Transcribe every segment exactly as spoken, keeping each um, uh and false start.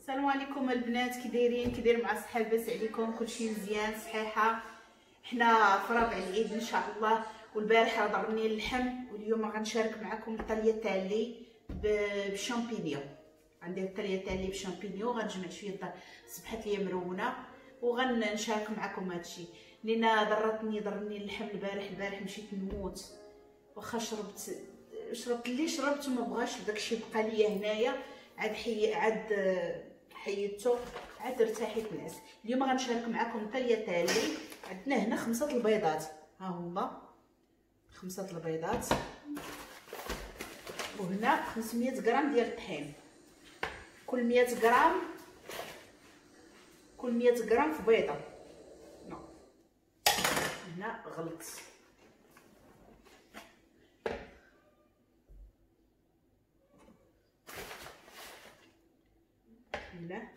السلام عليكم البنات، كي دايرين؟ كي داير مع الصحة؟ لاباس عليكم؟ كلشي مزيان؟ صحيحه؟ حنا في رابع العيد ان شاء الله، والبارحه ضرني اللحم، واليوم غنشارك معكم ال tagliatelle بال champignons. عندي ال tagliatelle بال champignons، غنجمع شوية الدار صبحت ليا مرونة وغنشارك معكم هادشي، لان ضرتني ضرني اللحم البارح. البارح مشيت نموت، واخا شربت شربت اللي شربت وما بغاش داكشي بقى ليا هنايا، عاد حي عاد حيدته عاد ارتاحيت نعس. اليوم غنشارك معكم tagliatelle. عندنا هنا خمسة البيضات، ها هما خمسة البيضات، وهنا خمسمية غرام ديال الطحين، كل مية غرام كل مية غرام في بيضة. نو هنا غلط، بسم الله.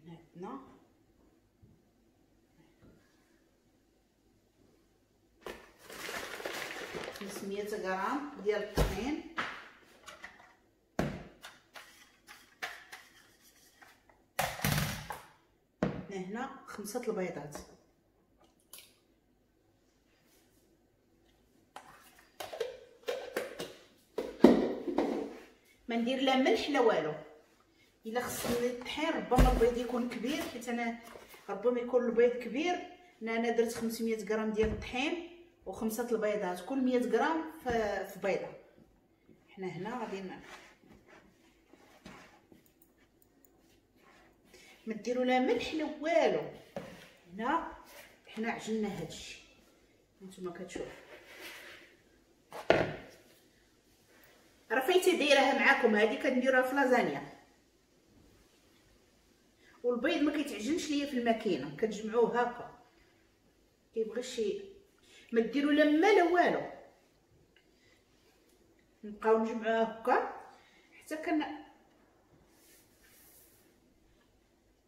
هنا عندنا خمسمية غرام ديال الطحين، هنا خمسة البيضات، ما ندير لا ملح لا والو. الا خصني الطحين ربما البيض يكون كبير، حيت انا ربما يكون البيض كبير. انا درت خمسمية غرام ديال الطحين وخمسة البيضات، كل مية غرام في بيضة. حنا هنا غادي ما ديروا لا ملح لا والو. هنا حنا عجلنا هادشي نتوما كتشوفوا، راه فايتي دايرها معاكم، هذه كنديروها في لازانيا. والبيض ما كيتعجنش ليا في الماكينة، كتجمعوه هكا، كيبغي شي ما ديروا لا ما لا والو، نبقاو نجمعوه هكا حتى كن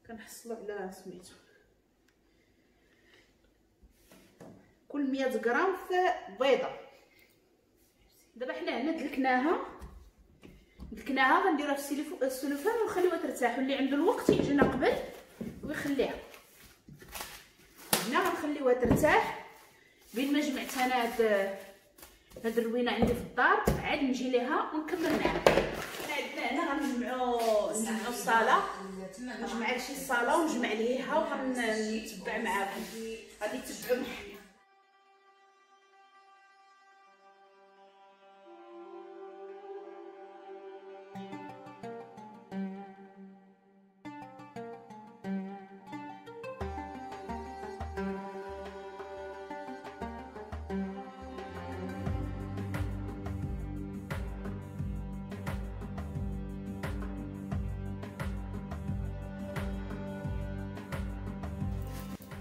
كنحصلوا على سميتو كل مية غرام في بيضة. دابا حنا هنا دلكناها دلكناها غنديروها في السلوفان ونخليوها ترتاح، واللي عنده الوقت يعجنها قبل ويخليها. هنا غنخليوها ترتاح بين ما جمعت انا هاد هاد الروينه عندي في الدار، عاد نجي ليها ونكمل معاها. حنا عندنا هنا غنجمعو نجمعو الصاله، نجمع هادشي الصاله ونجمع ليها وغنتبع معاكم، غادي تتبعوا معايا.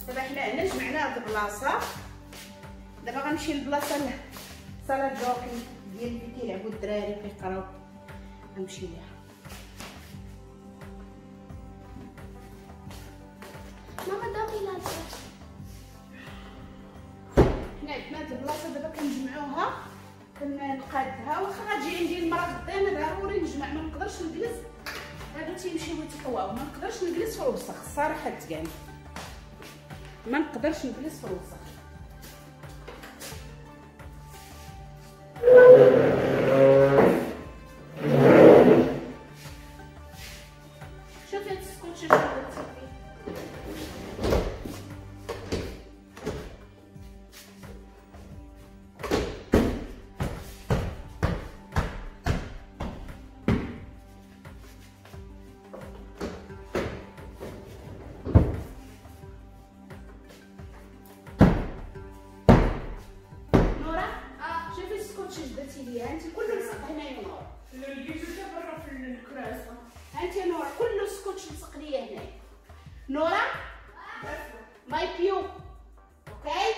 دابا حنا هنا جمعنا هاد البلاصة، دابا غنمشي للبلاصه sala giochi ديال اللي كيلعبوا الدراري كيقراو، غنمشي ليها. ماما دابا لا حنا عندنا هاد البلاصة دابا كنجمعوها كنقادها، واخا غتجي عندي المرا غدا انا ضروري نجمع، ما نقدرش نجلس، هادو تيمشيو يتقواو، ما نقدرش نجلس في الوسخ الصراحة تكان، ما نقدرش نجلس في الوسخ. شوفي هاد السكوتش شنو درتي فيه، درتي ليا انت كله لصق هنايا نور، لقيتو حتى برا في الكراسة. انت نور كله سكوتش لصق ليا هنايا. نورا mai più okay.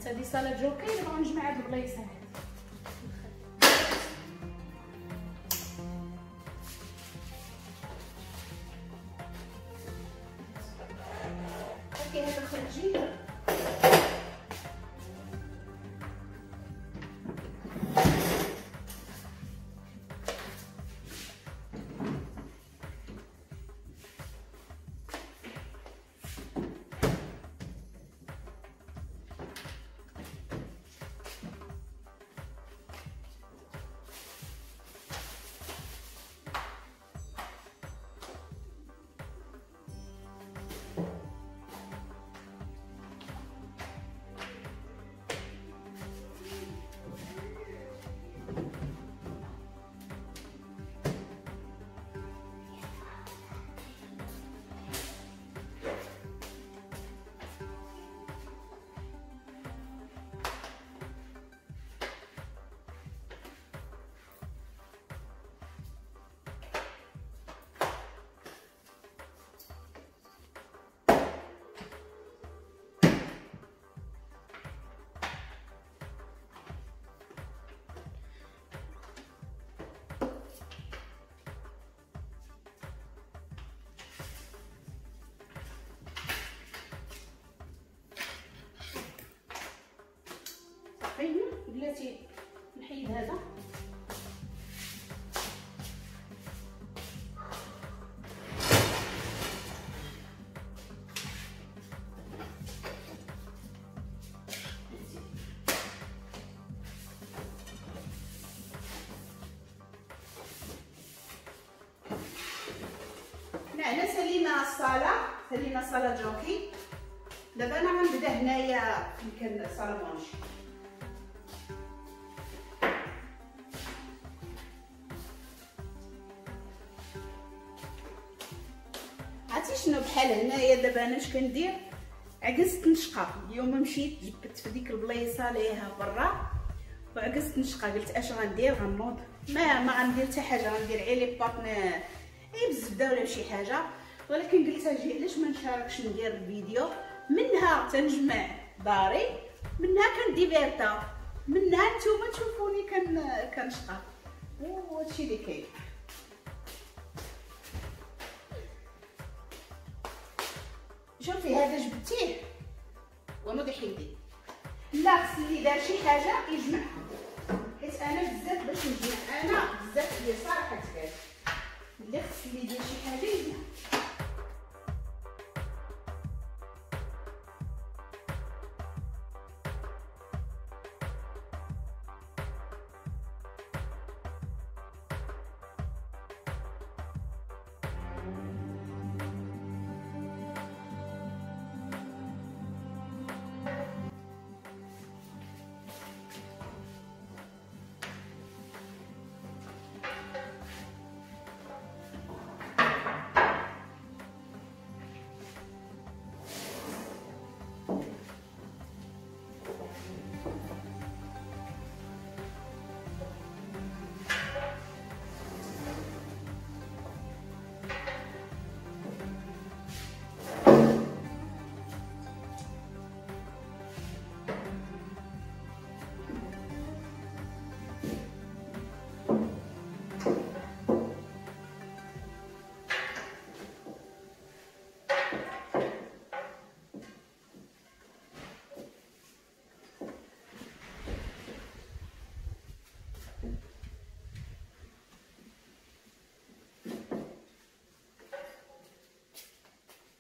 البنات هذه salle de hockey، دابا غنجمع هاد البلايص هادي. OK هذا خرجي. بلاتي نحيد هذا. حنا سالينا الصاله، سالينا salle de hockey. دابا انا غنبدا هنايا فين كان salle à manger. عرفتي شنو بحال هنايا دابا انا اش كندير؟ عكست نشقه. اليوم مشيت جبت في ديك البليصه ليها برا وعكست نشقه، قلت اش غندير؟ غنوض ما ما غندير حتى حاجة، غندير غير les pâtes غير بالزبده ولا بشي حاجة. ولكن قلت اجي علاش ما نشاركش ندير الفيديو، منها تنجمع داري، منها كنديفيرتا، منها نتوما تشوفوني كن كنشقى. وهادشي اللي كاين. شوفي هذا جبتيه ونوضي حيدي. لا خص اللي دار شي حاجة يجمعها، حيت انا بزاف باش نجمع، انا بزاف هي صراحة تبان اللي خص اللي يدير شي حاجة يجمعها.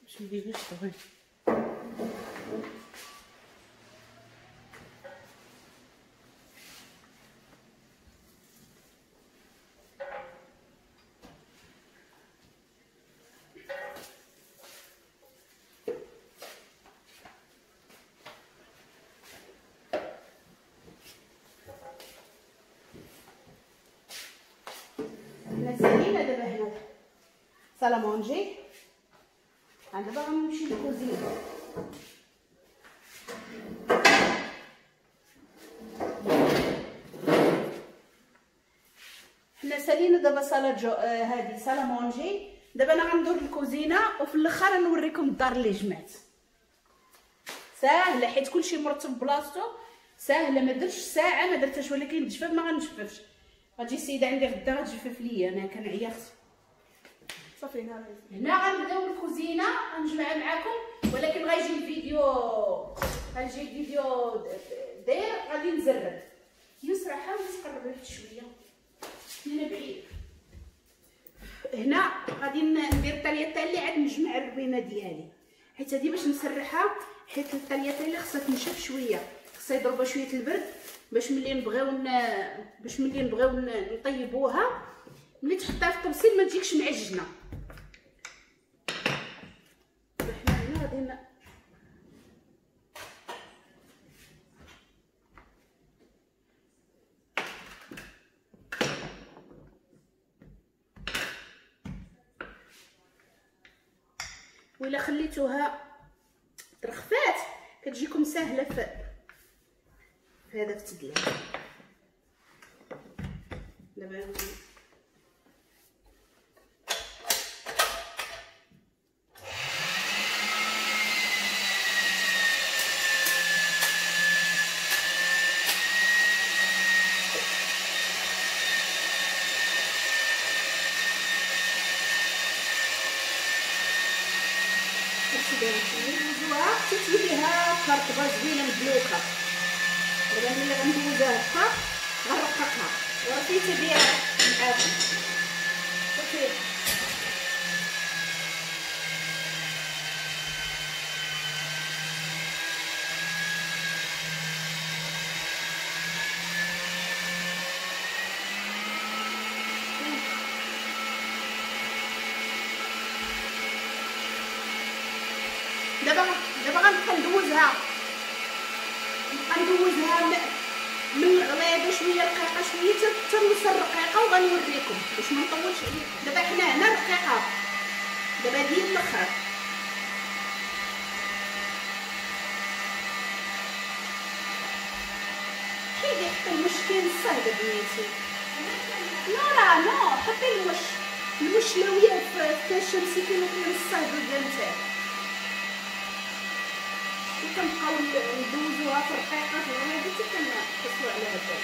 باش نديروش دغيا. حنا سالينا دابا هنا salle à manger. دابا غنمشي للكوزينه. حنا سالينا دابا salle de آه هادي salle à manger. دابا انا غندور للكوزينه وفي الاخر نوريكم الدار اللي جمعت. ساهله حيت كلشي مرتب بلاصتو، ساهله. ما درتش ساعة ما درتهاش، ولكن الجفاف ما غنجففش. غتجي السيدة عندي غدا غتجفف ليا، انا كنعيا خص صافي. هنا هنا غنبداو الكوزينة غنجمعها معاكم، ولكن غيجي الفيديو غنجي الفيديو داير غادي نزرب. يسرا حاول تقرب واحد شوية هنا بعيد. هنا غادي ندير ال tagliatelle عاد نجمع الروينه ديالي، حيت هادي باش نسرحها، حيت ال tagliatelle خصها تنشف شوية، خصها يضربها شوية البرد باش ملي نبغيو ن... باش ملي نبغيو نطيبوها ملي تحطها في الطبسيل ما تجيكش معجنه. حنا هنا غادي ن... وإلا خليتوها ترخفات كتجيكم سهلة في في هذا في التدليك. دابا ندوزوها حتى تولي هاكا رطبه زوينة مدلوكه. دابا ملي غندوزها هكا غنرققها وراه بها معاكم. صافي دابا دابا غنبقى ندوزها نبقى ندوزها من الغليظة شوية رقيقه شوية حتى نوصل رقيقه وغنوريكم باش ما نطولش عليكم. دابا حنا هنا رقيقه، دابا ديال الاخر. حيدي حطي المش كاين الصهد بنيتي. لا لا نو حطي المش المش لاويه في كاش مسكين وكاين الصهد ديال نتاعك. كنبقاو ندوزوها في الرقيقة في الغليظة حتى كنحصلوا على هذا.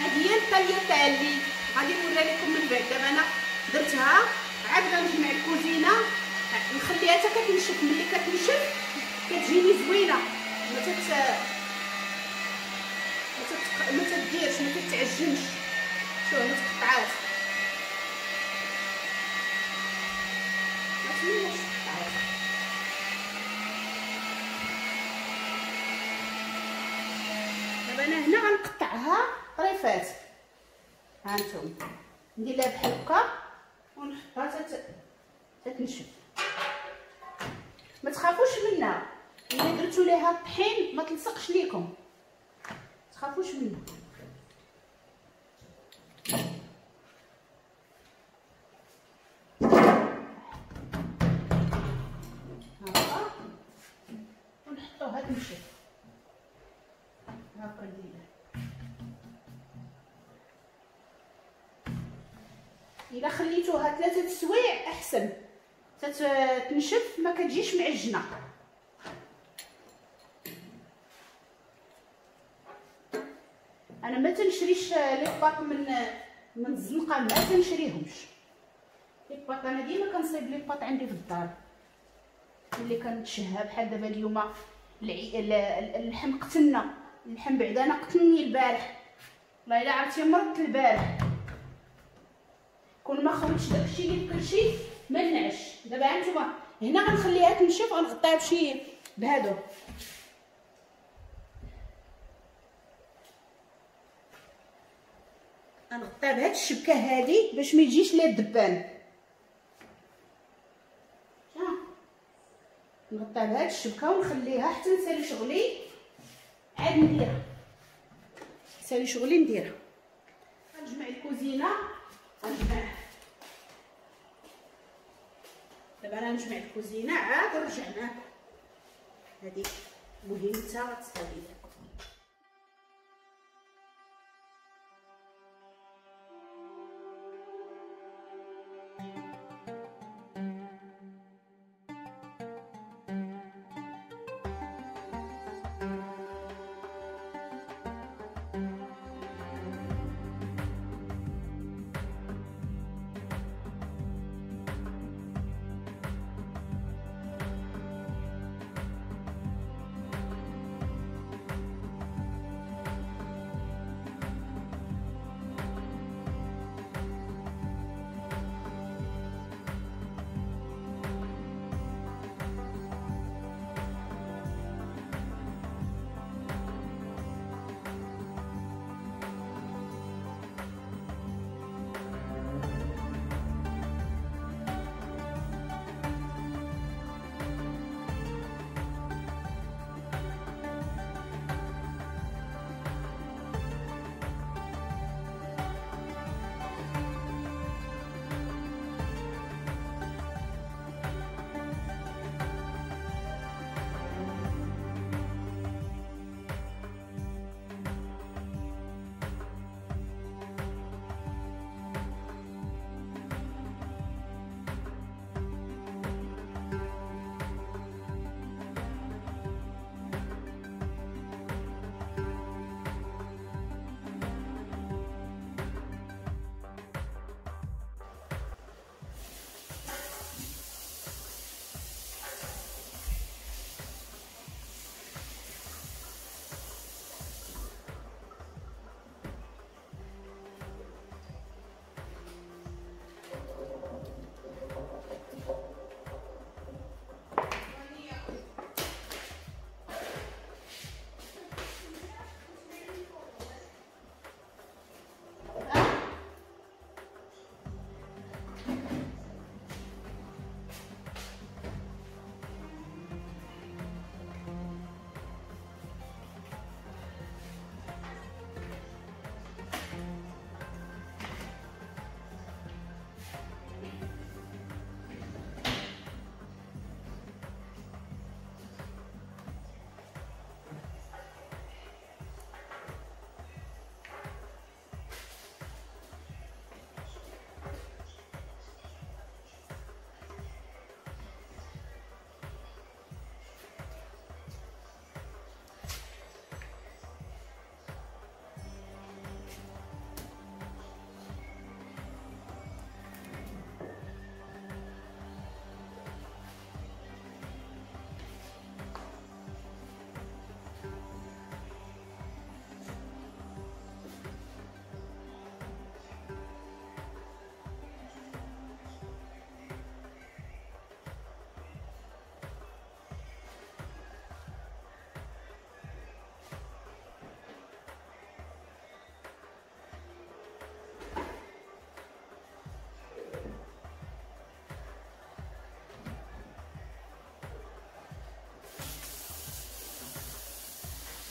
هذه هي ال tagliatelle اللي غادي نوريها لكم من بعد. دابا انا درتها عاد غنجمع الكوزينة نخليها حتى كتنشف. ملي كتنشف كتجيني زوينة، ما تت ما تت ما تديرش ما تتعجنش. شوف ما تقطعات، ما تمناش تقطعات. دابا انا هنا غنقطعها طريفات، ها انتم ندير لها بحال هكا ونحطها تتنشف. ما تخافوش منها، الا درتو ليها الطحين ما تلصقش ليكم، تخافوش منها. هكا ونحطوها تنشف هكا نديرها. الا خليتوها ثلاثة سوايع احسن تتنشف، ما كتجيش معجنه. انا ما تنشريش les pâtes من من الزنقة، ما تنشريهمش les pâtes. انا ديما كنصايب les pâtes عندي في الدار ملي كنتشهى. بحال دابا اليوم اللحم قتلنا، اللحم بعدا انا قتلني البارح، والله الا عرفتي مرضت البارح. كون ما خوتش داكشي اللي في كلشي ما نعش. دابا هانتوما هنا غنخليها تنشف، غنغطيها بشي بهادو. غنغطيها بهاد الشبكة هادي باش ما يجيش ليها الدبان. ها نغطيها بهاد الشبكة ونخليها حتى نسالي شغلي عاد نديرها. نسالي شغلي نديرها. غنجمع الكوزينة، غنجمع دابا انا نجمع الكوزينة عاد نرجع معاكم. هذه مهمتها غتسالي.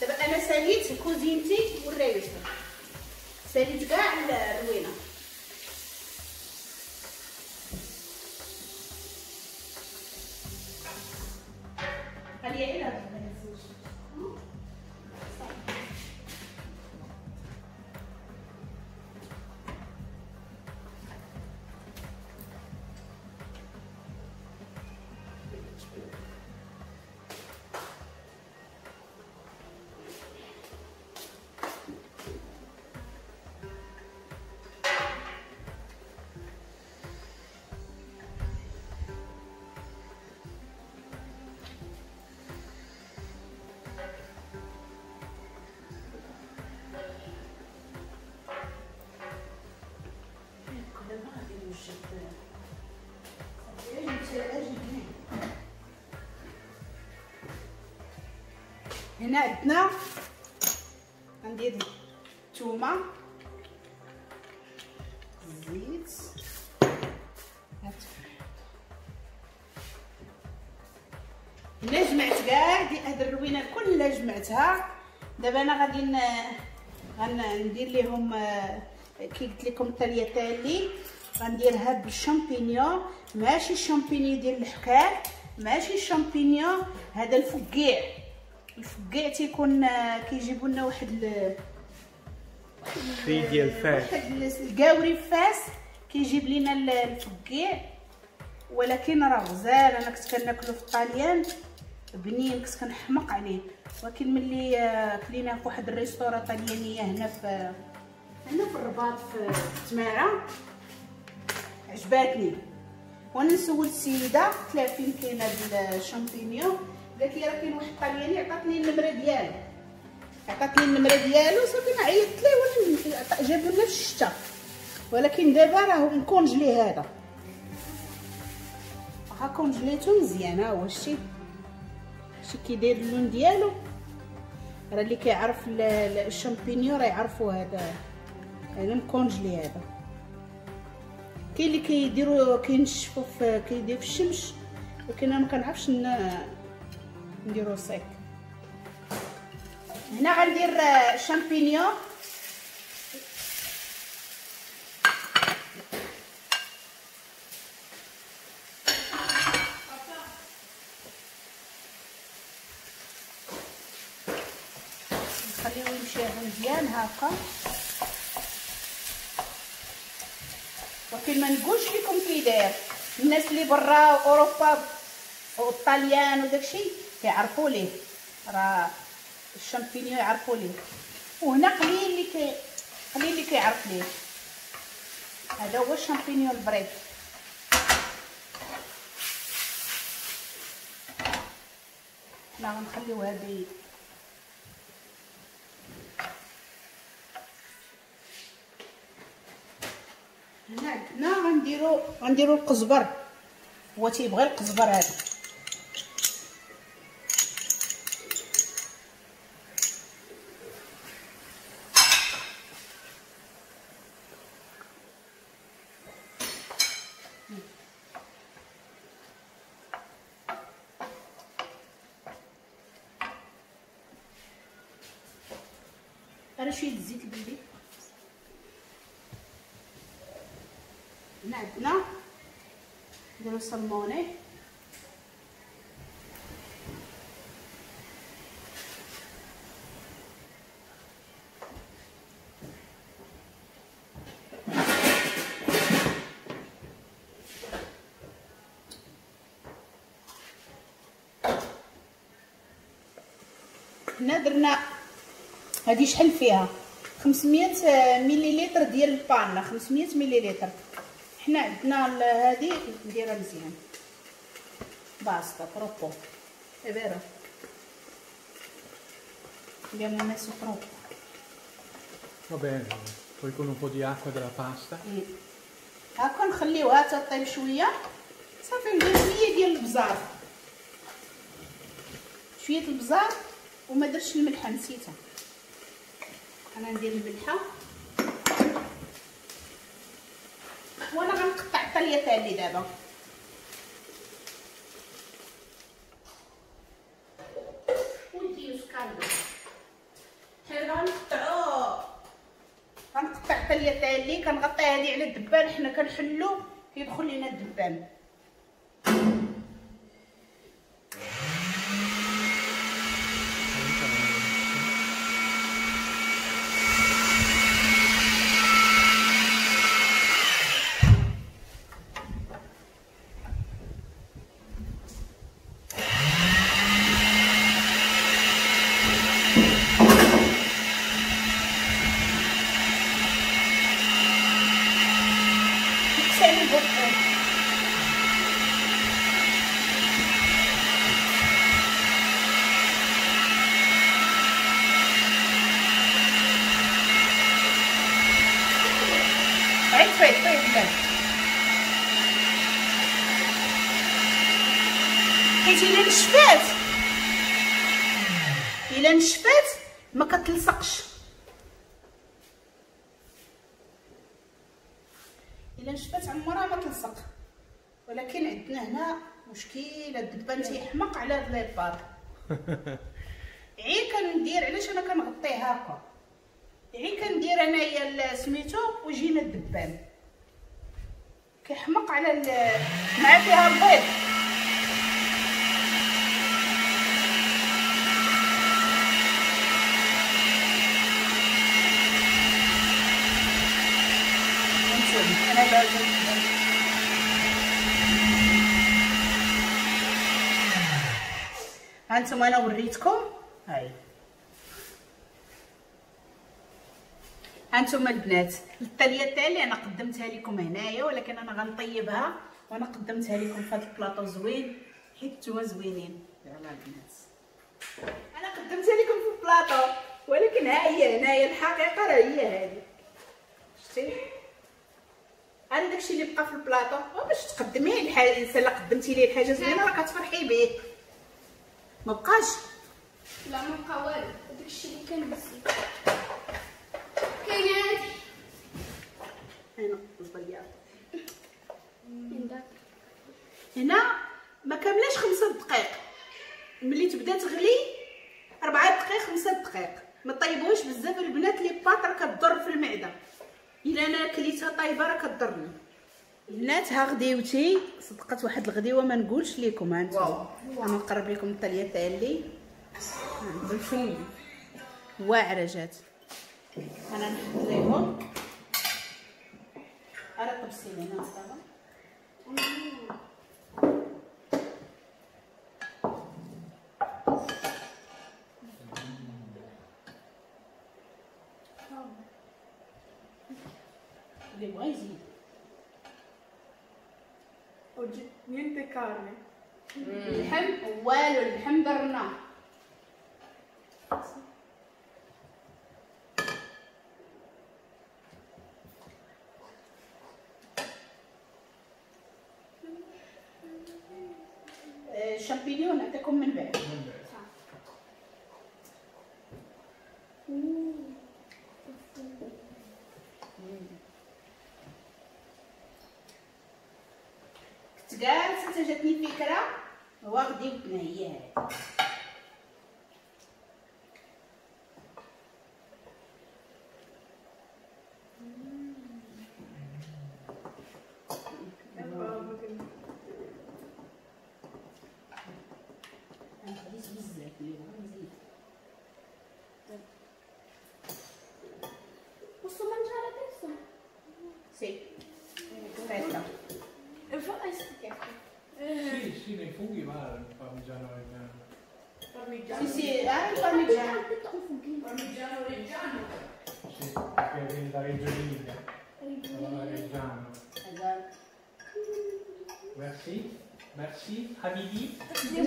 دابا انا ساليت كوزينتي والريوسه، ساليت كاع الروينه. خليها غير هاد هنا عندنا غندير الثومه، الزيت، هنا جمعت كاع دي هاد الروينه كلها جمعتها. دابا انا غادي غندير ليهم كي قلت لكم الطريقة اللي غنديرها بالشامبينيون، ماشي الشامبينيون ديال الحكاك، ماشي الشامبينيون، هذا الفقيع. الفقيع تيكون كيجيبوا لنا واحد ال في ديال فاس، واحد الكاوري فاس كيجيب لنا الفقيع، ولكن راه غزال. انا كنت كناكلو في الطاليان بنين، كنت كنحمق عليه، ولكن ملي كليناه في واحد ال restaurant طاليانيه هنا في هنا في الرباط في تماره عجباتني. وانا نسول السيدة قلت لها فين كاين هاد الشامبينيون، قالت لي راه كاين واحد الطالياني، عطاتني النمرة ديالو، عطاتني النمرة ديالو صافي انا عيطت ليه وانا جابو لنا في الشتا، ولكن دابا راه مكونجلي هذا، ها كونجليتو مزيان. ها هو شتي شتي كيداير اللون ديالو، راه اللي كيعرف الشامبينيون راه يعرفوا هذا، هذا مكونجلي هذا. كاين اللي كيديروا كينشفوا في كيديروا في الشمس، ولكن انا ما كنعرفش نديرو sec. هنا غندير شامبينيون، نخليو يمشي مزيان هكا. ولكن ما نقولش لكم كي داير، الناس اللي برا اوروبا والطاليان وداكشي كيعرفوا ليه، راه الشامبينيون يعرفوا ليه، وهنا قليل اللي كي قليل اللي كيعرف ليه. هذا هو الشامبينيون البريد. حنا غنخليو هذه هنا عندنا، غنديرو غنديرو القزبر، هو تيبغي القزبر هذا. انا شوية الزيت البلدي. هنا عندنا نديرو salmone، هنا درنا هادي شحال فيها خمسمية مليلتر ديال ال panna، خمسمية مليلتر. حنا عندنا هادي نديرها مزيان، basta troppo è vero abbiamo messo troppo. Va bene, poi con un po' di acqua della pasta. هاكا نخليوها تطيب شوية صافي. ندير شوية ديال البزار، شوية البزار، وما درتش الملحة نسيتها، انا ندير الملحة. وانا غنقطع الطليه تاعي دابا. وديو سكالدو حنا غنقطعو، غنقطع الطليه تاعي، كنغطي هذه على الدبان، حنا كنحلو كيدخل لينا الدبان. حيت الا نشفات الا نشفات ما كتلصقش، الا نشفات عمرها ما تلصق. ولكن عندنا هنا مشكلة، الدبان تيحمق على هاد les pâtes. عي كندير، علاش انا كنغطيه هكا، عي كندير انايا سميتو ويجينا الدبان كيحمق على مع فيها البيض. هانتوما انا وريتكم. هاي هانتوما البنات ال tagliatelle انا قدمتها لكم هنايا، ولكن انا غنطيبها وانا قدمتها لكم في هذا البلاطو زوين حيت نتوما زوينين. يلا البنات انا قدمتها لكم في البلاطو، ولكن ها هي هنايا الحقيقة راه هي هذه. شتي انا داكشي اللي بقى في البلاطو باش تقدميه الانسان الا قدمتي ليه الحاجة زوينة راه كتفرحي به. ما بقاش لا ما بقى والو، داكشي اللي كان بزاف كاين هادي. هنا البياض هنا ما كاملاش خمسة دقائق، ملي تبدا تغلي أربعة دقائق خمسة دقائق. ما طيبوهاش بزاف البنات، les pâtes راه كضر في المعدة. الا انا كليتها طايبه راه كضرني. البنات ها غديوتي صدقت واحد الغديوه ما نقولش لكم. ها انتم انا نقرب لكم ال tagliatelle بالفم واعرة جات. انا نحط ليهم ارا طبسي هنا صافي. اللي بغا يزيد. Oggi niente carne. اللحم والو، اللحم درنا. الشامبينيون نعطيكم من بعد. كنت جالسة حتى جاتني فكرة هو غديوتنا هي هادي. انا خديت بزاف اللي بغا نزيد. Posso mangiare adesso? Sì. Aspetta. Sì, sì, nei funghi va il parmigiano reggiano. Parmigiano. Sì, sì, ah, il parmigiano. Parmigiano reggiano. Sì, perché viene da Reggio Emilia. Allora reggiano. Esatto. Merci. Merci حبيبي.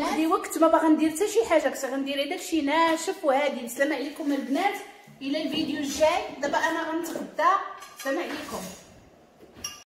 هادي وقت ما باغا ندير حتى شي حاجة، كنت غندير داكشي ناشف وهادي. بسلامه عليكم البنات، الى الفيديو الجاي. دابا انا غنتغدى. سلام عليكم.